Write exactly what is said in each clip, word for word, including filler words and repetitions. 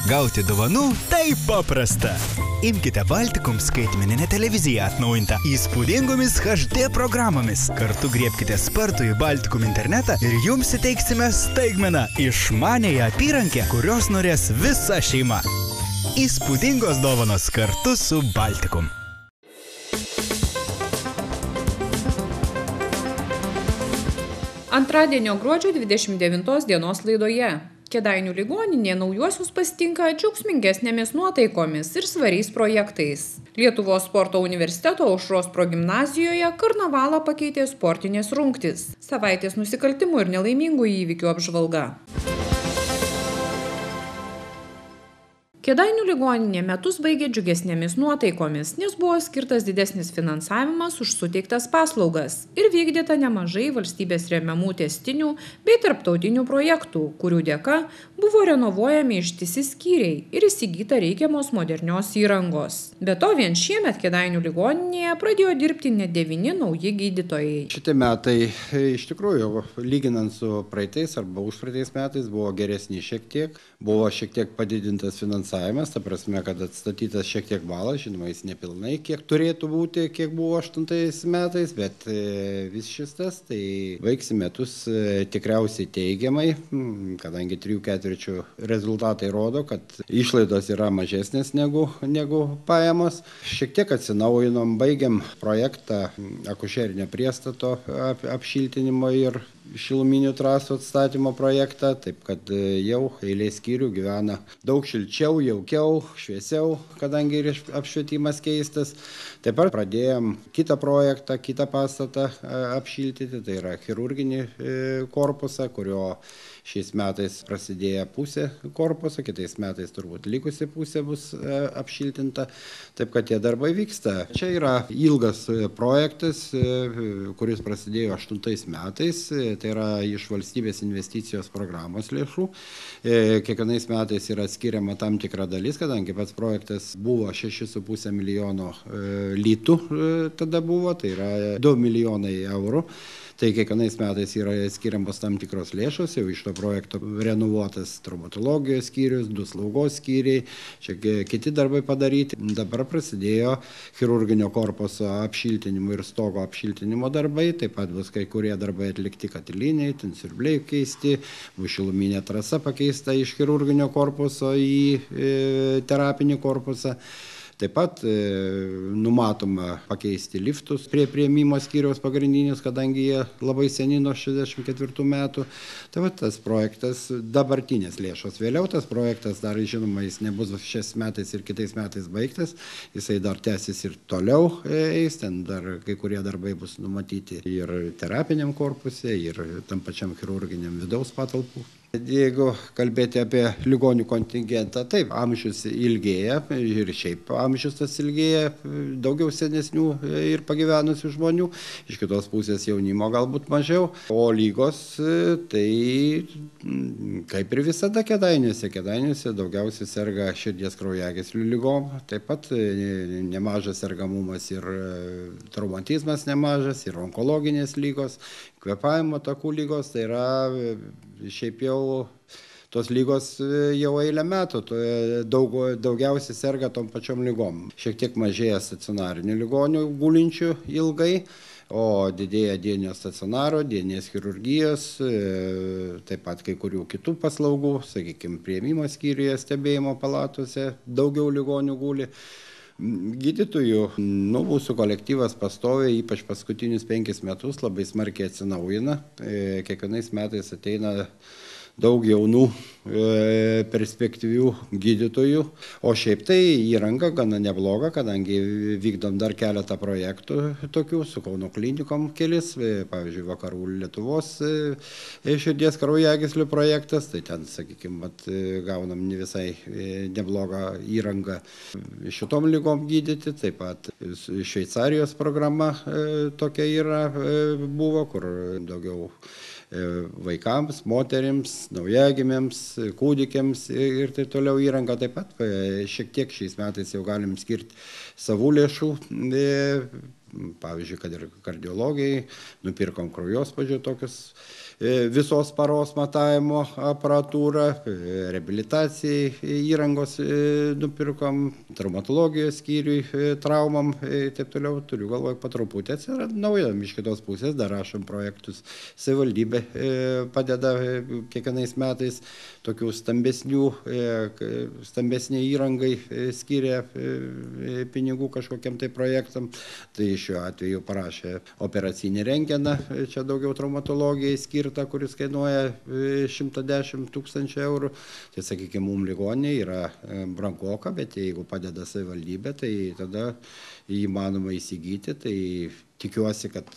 Gauti dovanų taip paprasta. Imkite Baltikum skaitmeninę televiziją atnaujintą įspūdingomis H D programomis. Kartu griebkite spartų į Baltikum internetą ir jums įteiksime staigmeną išmaniąją apyrankę, kurios norės visa šeima. Įspūdingos dovanos kartu su Baltikum. Antradienio gruodžio dvidešimt devintos dienos laidoje. Kėdainių ligoninė naujuosius pasitinka džiaugsmingesnėmis nuotaikomis ir svariais projektais. Lietuvos sporto universiteto Aušros progimnazijoje karnavalą pakeitė sportinės rungtys. Savaitės nusikaltimų ir nelaimingų įvykių apžvalga. Kėdainių ligoninė metus baigė džiugesnėmis nuotaikomis, nes buvo skirtas didesnis finansavimas už suteiktas paslaugas ir vykdyta nemažai valstybės remiamų tęstinių bei tarptautinių projektų, kurių dėka buvo renovuojami ištisi skyriai ir įsigyta reikiamos modernios įrangos. Be to, vien šiemet Kėdainių ligoninėje pradėjo dirbti net devyni nauji gydytojai. Šitie metai iš tikrųjų, lyginant su praeitais arba užpraeitais metais, buvo geresni šiek tiek, buvo šiek tiek padidintas finansavimas. Ta prasme, kad atstatytas šiek tiek balas, žinoma, jis nepilnai, kiek turėtų būti, kiek buvo aštuntais metais, bet vis šis tas, tai baigsi metus tikriausiai teigiamai, kadangi trijų ketvirčių rezultatai rodo, kad išlaidos yra mažesnės negu, negu pajamos. Šiek tiek atsinaujinom, baigiam projektą akušerinio priestato ap, apšiltinimo ir šiluminių trasų atstatymo projektą, taip kad jau eilė skyrių gyvena daug šilčiau, jaukiau, šviesiau, kadangi ir apšvietimas keistas. Taip pat pradėjom kitą projektą, kitą pastatą apšiltyti, tai yra chirurginį korpusą, kurio šiais metais prasidėjo pusė korpuso, kitais metais turbūt likusi pusė bus apšiltinta, taip kad tie darbai vyksta. Čia yra ilgas projektas, kuris prasidėjo aštuntais metais, tai yra iš valstybės investicijos programos lėšų. Kiekvienais metais yra skiriama tam tikra dalis, kadangi pats projektas buvo šeši su puse milijono litų tada buvo, tai yra du milijonai eurų. Tai kiekvienais metais yra skiriamos tam tikros lėšos, jau iš to projekto renovuotas traumatologijos skyrius, du slaugos skyriai, čia kiti darbai padaryti. Dabar prasidėjo chirurginio korpuso apšiltinimo ir stogo apšiltinimo darbai, taip pat bus kai kurie darbai atlikti katiliniai, ten siurbliai keisti, bus šiluminė trasa pakeista iš chirurginio korpuso į terapinį korpusą. Taip pat e, numatoma pakeisti liftus prie priėmimo skyriaus pagrindinius, kadangi jie labai seni nuo šešiasdešimt ketvirtų metų. Tai va tas projektas, dabartinės lėšos. Vėliau tas projektas dar, žinoma, jis nebus šiais metais ir kitais metais baigtas. Jisai dar tęsis ir toliau eis, ten dar kai kurie darbai bus numatyti ir terapiniam korpuse, ir tam pačiam chirurginiam vidaus patalpų. Jeigu kalbėti apie ligonių kontingentą, taip, amžius ilgėja ir šiaip amžius tas ilgėja, daugiau senesnių ir pagyvenusių žmonių, iš kitos pusės jaunimo galbūt mažiau, o lygos tai kaip ir visada Kėdainiuose, Kėdainiuose daugiausiai serga širdies kraujagyslių ligom, taip pat nemažas sergamumas ir traumatizmas nemažas, ir onkologinės lygos, kvėpavimo takų lygos, tai yra šiaip jau tos lygos jau eilę metų, daug, daugiausiai serga tom pačiom lygom. Šiek tiek mažėja stacionarinių ligonių gulinčių ilgai, o didėja dieninio stacionaro, dieninės chirurgijos, taip pat kai kurių kitų paslaugų, sakykime, priėmimo skyriuje, stebėjimo palatose, daugiau ligonių guli. Gydytojų, nu, mūsų kolektyvas pastoviai, ypač paskutinius penkis metus, labai smarkiai atsinaujina. Kiekvienais metais ateina daug jaunų e, perspektyvių gydytojų, o šiaip tai įranga gana nebloga, kadangi vykdom dar keletą projektų tokių, su Kauno klinikom kelis, pavyzdžiui, Vakarų Lietuvos e, širdies kraujagyslių projektas, tai ten, sakykime, gaunam ne visai e, neblogą įrangą šitom lygom gydyti, taip pat Šveicarijos programa e, tokia yra, e, buvo, kur daugiau vaikams, moterims, naujagimiams, kūdikiams ir taip toliau įranga. Taip pat šiek tiek šiais metais jau galim skirti savų lėšų pavyzdžiui, kad ir kardiologijai, nupirkom kraujospūdžio tokius visos paros matavimo aparatūrą, reabilitacijai įrangos nupirkom, traumatologijos skyriui, traumam ir taip toliau. Turiu galvoj, po truputį atsiranda nauja. Iš kitos pusės dar rašom projektus. Savivaldybė padeda kiekvienais metais tokių stambesnių, stambesnė įrangai skiria pinigų kažkokiam tai projektam. Tai šiuo atveju parašė operacinį rentgeną, čia daugiau traumatologijai skirta, kuris kainuoja šimtą dešimt tūkstančių eurų. Tai, sakykime, mums ligoninė yra brangoka, bet jeigu padeda savivaldybė, tai tada įmanoma įsigyti. Tai tikiuosi, kad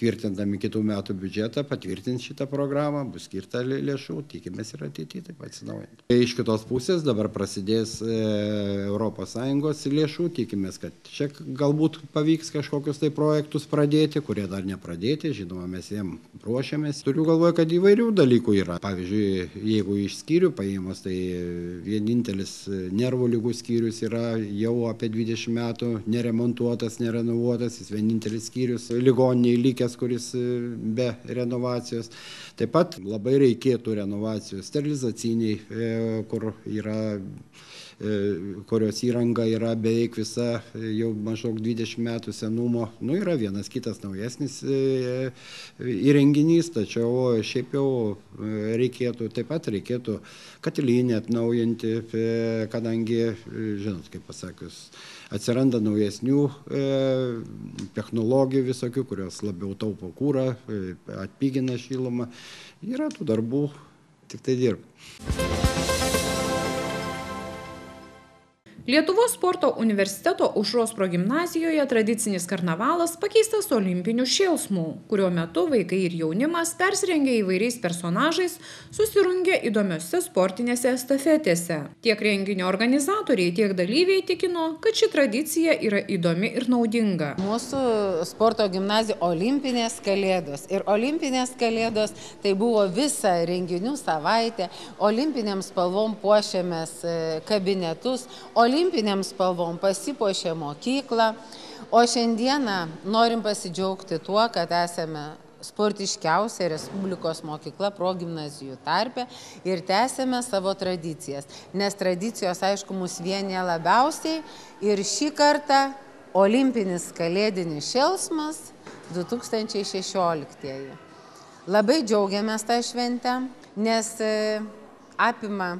tvirtindami kitų metų biudžetą patvirtins šitą programą, bus skirta lėšų, tikimės ir ateityje taip atsinaujinti. Iš kitos pusės dabar prasidės Europos Sąjungos lėšų, tikimės, kad čia galbūt pavyks kažkokius tai projektus pradėti, kurie dar nepradėti, žinoma, mes jiem ruošiamės. Turiu galvoje, kad įvairių dalykų yra. Pavyzdžiui, jeigu iš skyrių paėmus, tai vienintelis nervų ligų skyrius yra jau apie dvidešimt metų neremontuotas, nerenovuotas, jis vienintelis skyrius ligoniniai likęs, kuris be renovacijos. Taip pat labai reikėtų renovacijos sterilizaciniai, kur yra, kurios įranga yra beveik visa jau maždaug dvidešimt metų senumo. Nu, yra vienas kitas naujesnis įrenginys, tačiau šiaip jau reikėtų, taip pat reikėtų katilinę atnaujinti, kadangi, žinot, kaip pasakius, atsiranda naujesnių technologijų visokių, kurios labiau taupo kurą, atpigina šilumą. Yra tų darbų, tik tai dirba. Lietuvos sporto universiteto Aušros progimnazijoje tradicinis karnavalas pakeistas olimpiniu šėlsmu, kurio metu vaikai ir jaunimas persirengę įvairiais personažais susirungė įdomiose sportinėse estafetėse. Tiek renginio organizatoriai, tiek dalyviai tikino, kad ši tradicija yra įdomi ir naudinga. Mūsų sporto gimnazija olimpinės kalėdos. Ir olimpinės kalėdos tai buvo visa renginių savaitė. Olimpinėms spalvom puošėmės kabinetus. Olimpinėms spalvom pasipuošė mokyklą, o šiandieną norim pasidžiaugti tuo, kad esame sportiškiausia Respublikos mokykla progimnazijų tarpe ir tęsėme savo tradicijas, nes tradicijos, aišku, mus vienija labiausiai ir šį kartą olimpinis kalėdinis šėlsmas du tūkstančiai šešioliktieji. Labai džiaugiamės tą šventę, nes apima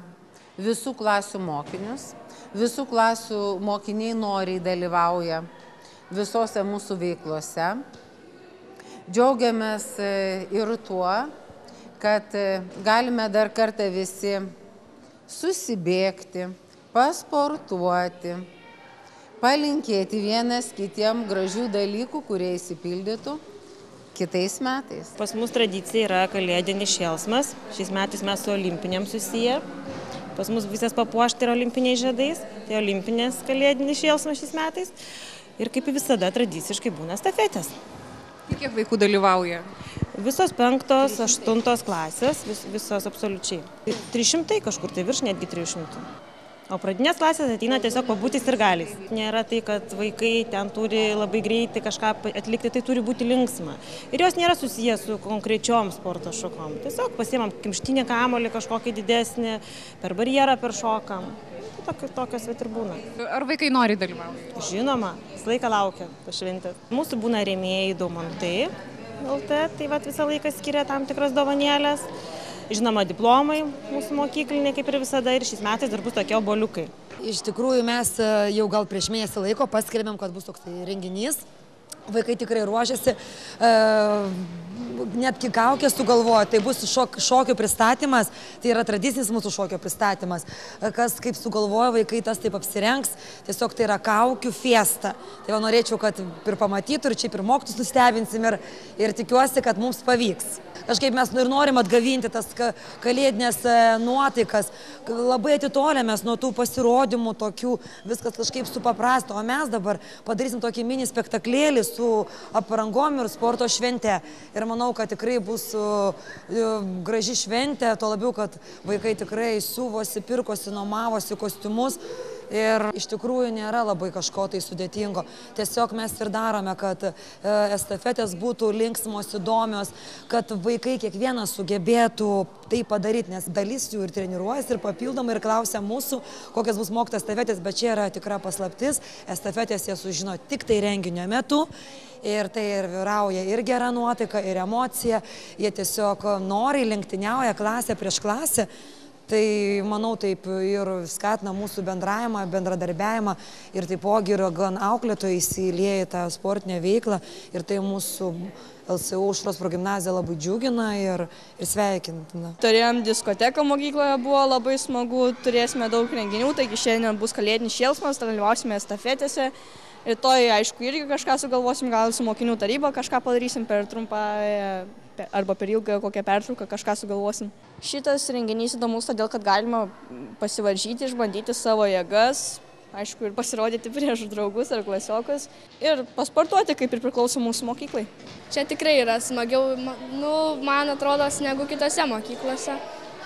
visų klasių mokinius. Visų klasių mokiniai noriai dalyvauja visose mūsų veiklose. Džiaugiamės ir tuo, kad galime dar kartą visi susibėgti, pasportuoti, palinkėti vienas kitiem gražių dalykų, kurie įsipildytų kitais metais. Pas mus tradicija yra kalėdinis šėlsmas. Šiais metais mes su olimpinėm susiję. Pas mus visas papuošta yra olimpiniais žiedais, tai olimpinės kalėdinis šėlsmas šiais metais. Ir kaip visada tradiciškai būna estafetės. Kiek vaikų dalyvauja? Visos penktos, aštuntos klasės, vis, visos absoliučiai. trys šimtai kažkur, tai virš netgi trijų šimtų. O pradinės klasės ateina tiesiog pabūti sirgaliais. Nėra tai, kad vaikai ten turi labai greitai kažką atlikti, tai turi būti linksma. Ir jos nėra susijęs su konkrečiom sporto šakom. Tiesiog pasiimam kimštinį kamuolį kažkokį didesnį, per barjerą peršokam. Tokios vat ir būna. Ar vaikai nori dalyvauti? Žinoma, visą laiką laukia pašventės. Mūsų būna rėmėjai Daumantai L T, tai vat visą laiką skiria tam tikras dovanėlės. Žinoma, diplomai mūsų mokykliniai, kaip ir visada, ir šiais metais dar bus tokie obuoliukai. Iš tikrųjų, mes jau gal prieš mėnesį laiko paskelbėm, kad bus toks renginys. Vaikai tikrai ruošiasi, netgi kaukės sugalvojo, tai bus šok, šokio pristatymas, tai yra tradicinis mūsų šokio pristatymas. Kas kaip sugalvojo, vaikai tas taip apsirengs, tiesiog tai yra kaukių fiesta. Tai va norėčiau, kad ir pamatytų, ir čia ir mokytus nustebinsim, ir, ir tikiuosi, kad mums pavyks. Kažkaip mes ir norim atgavinti tas kalėdinės nuotaikas, labai atitolėmės nuo tų pasirodymų tokių, viskas kažkaip supaprasto, o mes dabar padarysim tokį mini spektaklėlį su aprangom ir sporto švente. Ir manau, kad tikrai bus graži šventė, tuo labiau, kad vaikai tikrai siuvosi, pirkosi, nuomavosi kostiumus. Ir iš tikrųjų nėra labai kažko tai sudėtingo. Tiesiog mes ir darome, kad estafetės būtų linksmos, įdomios, kad vaikai kiekvienas sugebėtų tai padaryti, nes dalis jų ir treniruojasi, ir papildomai, ir klausia mūsų, kokias bus mokytas estafetės, bet čia yra tikra paslaptis. Estafetės jie sužino tik tai renginio metu. Ir tai ir vyrauja ir gera nuotaika, ir emocija. Jie tiesiog noriai lenktyniauja klasę prieš klasę. Tai, manau, taip ir skatina mūsų bendravimą, bendradarbiavimą ir taipogi yra gan auklėtojai įsilieja į tą sportinę veiklą ir tai mūsų L S U Aušros progimnazija labai džiugina ir, ir sveikintina. Turėjom diskoteką mokykloje, buvo labai smagu, turėsime daug renginių, taigi šiandien bus kalėdinis šėlsmas, dalyvausime estafetėse. Rytoj, aišku, irgi kažką sugalvosim, gal su mokinių taryba kažką padarysim per trumpą arba per ilgą kokią pertrauką, kažką sugalvosim. Šitas renginys įdomus todėl, kad galima pasivaržyti, išbandyti savo jėgas, aišku, ir pasirodyti prieš draugus ar klasiokus ir pasportuoti, kaip ir priklauso mūsų mokyklai. Čia tikrai yra smagiau, nu, man atrodo, negu kitose mokyklose.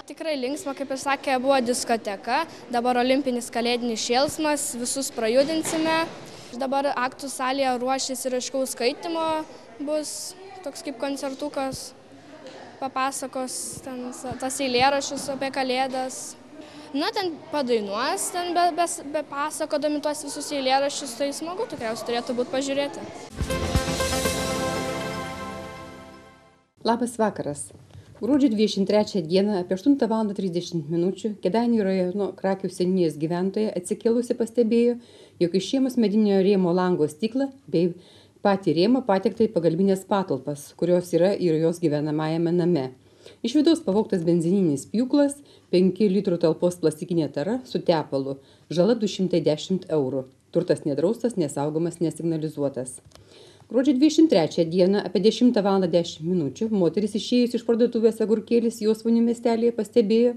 Tikrai linksma, kaip ir sakė, buvo diskoteka, dabar olimpinis kalėdinis šėlsmas, visus prajudinsime. Dabar aktų salėje ruošiasi raiškaus skaitimo, bus toks kaip koncertukas, papasakos ten, tas eilėraščius apie kalėdas. Na, ten padainuos, ten be, be, be pasakodami tuos visus eilėraščius, tai smagu tikriausiai turėtų būti pažiūrėti. Labas vakaras. Gruodžio dvidešimt trečią dieną apie aštuntą valandą trisdešimt minučių Kėdainių rajono Krakių seniūnijos gyventoja atsikėlusi pastebėjo, jog išėmus medinio rėmo lango stiklą bei patį rėmą patekta į pagalbinės patalpas, kurios yra ir jos gyvenamajame name. Iš vidaus pavogtas benzininis pjūklas, penkių litrų talpos plastikinė tara su tepalu, žala du šimtai dešimt eurų. Turtas nedraustas, nesaugomas, nesignalizuotas. Gruodžio dvidešimt trečią dieną apie dešimtą valandą dešimt minučių moteris išėjusi iš parduotuvės Agurkėlis Josvainių miestelėje pastebėjo,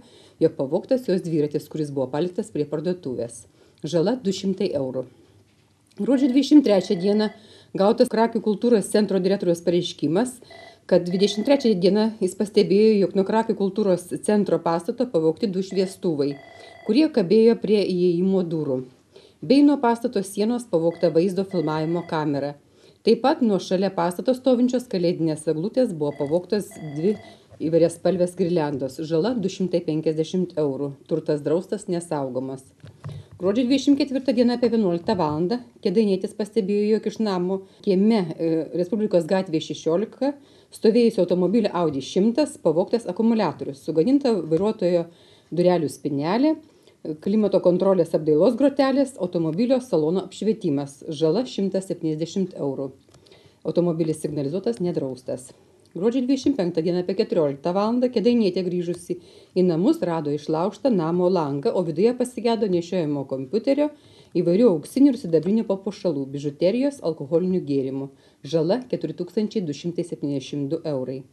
jog pavogtas jos dviratis, kuris buvo paliktas prie parduotuvės. Žala du šimtai eurų. Gruodžio dvidešimt trečią dieną gautas Krakių kultūros centro direktoriaus pareiškimas, kad dvidešimt trečią dieną jis pastebėjo, jog nuo Krakių kultūros centro pastato pavogti du šviestuvai, kurie kabėjo prie įėjimo durų. Bei nuo pastato sienos pavogta vaizdo filmavimo kamera. Taip pat nuo šalia pastato stovinčios kalėdinės eglutės buvo pavogtos dvi įvairiaspalvės girliandos. Žala du šimtai penkiasdešimt eurų. Turtas draustas, nesaugomas. Gruodžio dvidešimt ketvirtą dieną apie vienuoliktą valandą kėdainietis pastebėjo, jog iš namo kieme Respublikos gatvėje šešiolika stovėjusio automobilio Audi šimtas pavogtas akumuliatorius, sugadinta vairuotojo durelių spynelė, klimato kontrolės apdailos grotelės, automobilio salono apšvietimas. Žala šimtas septyniasdešimt eurų. Automobilis signalizuotas, nedraustas. Gruodžio dvidešimt penktą dieną apie keturioliktą valandą kėdainietė grįžusi į namus rado išlaužtą namo langą, o viduje pasigedo nešiojamo kompiuterio, įvairių auksinių ir sidabrinių papuošalų, bižuterijos, alkoholinių gėrimų. Žala keturi tūkstančiai du šimtai septyniasdešimt du eurai.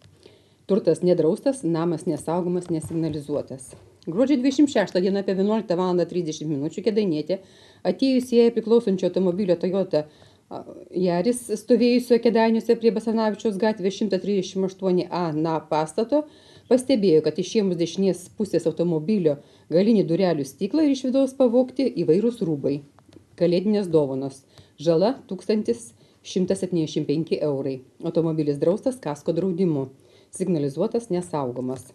Turtas nedraustas, namas nesaugomas, nesignalizuotas. Gruodžio dvidešimt šeštą dieną apie vienuoliktą valandą trisdešimt minučių kėdainietė, atėjusi jai priklausančio automobilio Toyota Yaris stovėjusio Kėdainiuose prie Basanavičiaus gatvės šimtas trisdešimt aštuoni A na pastato, pastebėjo, kad išėmus dešinės pusės automobilio galinį durelių stiklą ir iš vidaus pavogti įvairūs rūbai. Kalėdinės dovanos. Žala tūkstantis šimtas septyniasdešimt penki eurai. Automobilis draustas kasko draudimu. Signalizuotas, nesaugomas.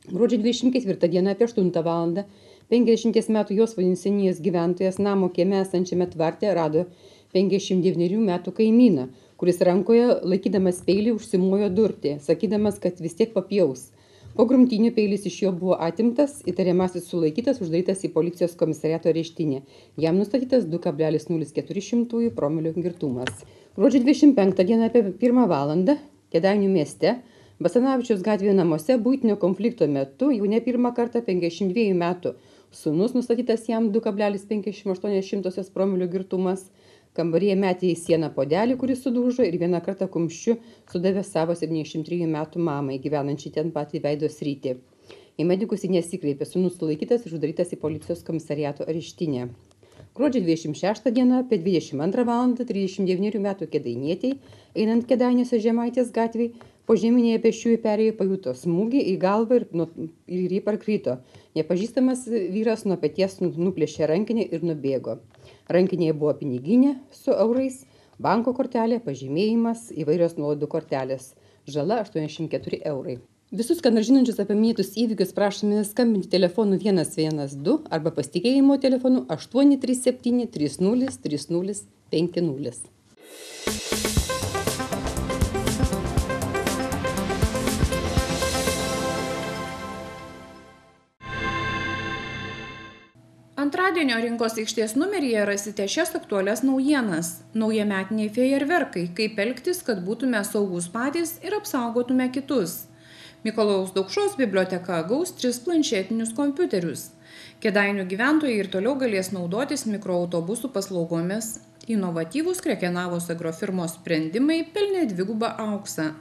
Gruodžio dvidešimt ketvirtą dieną apie aštuntą valandą penkiasdešimties metų Josvainių seniūnijos gyventojas namo kieme esančiame tvarte rado penkiasdešimt devynerių metų kaimyną, kuris rankoje laikydamas peilį užsimojo durti, sakydamas, kad vis tiek papjaus. Po grumtynių peilis iš jo buvo atimtas, įtariamasis sulaikytas, uždarytas į policijos komisariato areštinę. Jam nustatytas du kablelis nulis keturi promilių girtumas. Gruodžio dvidešimt penktą dieną apie pirmą valandą Kėdainių mieste Basanavičiaus gatvėje namuose buitinio konflikto metu jau ne pirmą kartą penkiasdešimt dviejų metų sūnus nustatytas jam du kablelis penkiasdešimt aštuoni promilių girtumas. Kambaryje metė į sieną puodelį, kuris sudužo ir vieną kartą kumščiu sudavė savo septyniasdešimt trijų metų mamai, gyvenančiai ten pat į veido sritį. Į medikus jis nesikreipė, sūnus sulaikytas ir uždarytas į policijos komisariato areštinę. Gruodžio dvidešimt šeštą dieną apie dvidešimt antrą valandą trisdešimt devynerių metų kėdainietei, einant Kėdainiuose Žemaitės gatvėj, Požeminėje pėsčiųjų perėjoje pajuto smūgį į galvą ir, nu, ir jį parkrito. Nepažįstamas vyras nuo peties nuplėšė rankinę ir nubėgo. Rankinėje buvo piniginė su eurais, banko kortelė, pažymėjimas, įvairios nuolaidų kortelės. Žala aštuoniasdešimt keturi eurai. Visus, ką nors žinančius apie minėtus įvykius, prašome skambinti telefonu vienas vienas du arba pasitikėjimo telefonu aštuoni trys septyni trys nulis trys nulis penki nulis. Antradienio rinkos aikštės numeryje rasite šias aktualias naujienas. Naujametiniai fejerverkai, kaip elgtis, kad būtume saugus patys ir apsaugotume kitus. Mikalojaus Daukšos biblioteka gaus tris planšetinius kompiuterius. Kėdainių gyventojai ir toliau galės naudotis mikroautobusų paslaugomis. Inovatyvūs Krekenavos agrofirmos sprendimai pelnė dvigubą auksą.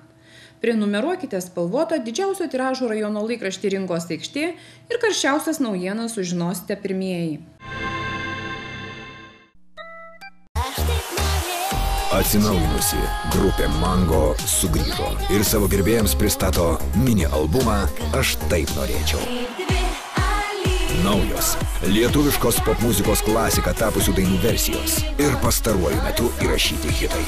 Prenumeruokite spalvotą didžiausio tiražo rajono laikraštį Rinkos aikštė ir karščiausias naujienas sužinosite pirmieji. Atsinaujinusi grupė Mango sugrįžo ir savo gerbėjams pristato mini albumą Aš taip norėčiau. Naujos, lietuviškos popmuzikos klasika tapusių dainų versijos ir pastaruoju metu įrašyti hitai.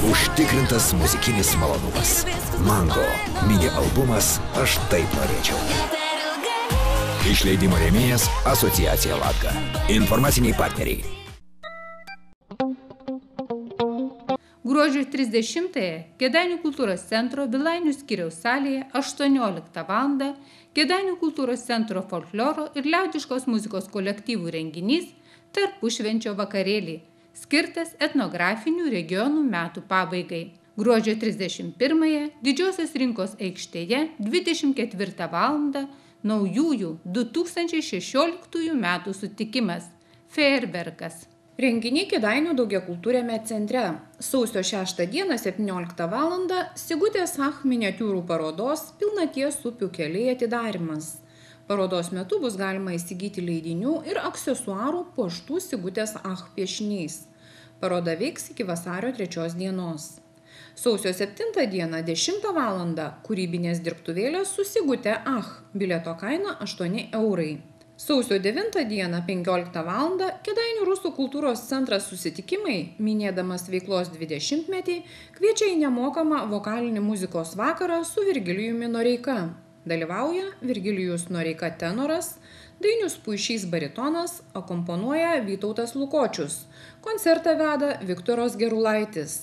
Užtikrintas muzikinis malonumas. Mango mini albumas Aš taip norėčiau. Išleidimo rėmėjas Asociacija Latga. Informaciniai partneriai. Gruodžio trisdešimtąją Kėdainių kultūros centro Vilainių skyriaus salėje aštuonioliktą valandą Kėdainių kultūros centro folkloro ir liaudiškos muzikos kolektyvų renginys Tarpušvenčio vakarėlį, skirtas etnografinių regionų metų pabaigai. Gruodžio trisdešimt pirmąją Didžiosios rinkos aikštėje dvidešimt ketvirtą valandą naujųjų du tūkstančiai šešioliktųjų metų sutikimas – fejerverkas. Renginiai Kėdainių daugiakultūriame centre. Sausio šeštą dieną septynioliktą valandą Sigutės Ach miniatiūrų parodos Pilnaties upių keliai atidarymas. Parodos metu bus galima įsigyti leidinių ir aksesuarų puoštų Sigutės Ach piešiniais. Paroda veiks iki vasario trečios dienos. Sausio septintą dieną dešimtą valandą kūrybinės dirbtuvėlės su Sigute Ach, bilieto kaina aštuoni eurai. Sausio devintą dieną penkioliktą valandą Kėdainių rusų kultūros centras susitikimai, minėdamas veiklos dvidešimtmetį, kviečia į nemokamą vokalinį muzikos vakarą su Virgilijumi Noreika. Dalyvauja Virgilijus Noreika tenoras, Dainius Puišys baritonas, akomponuoja Vytautas Lukočius. Koncertą veda Viktoras Gerulaitis.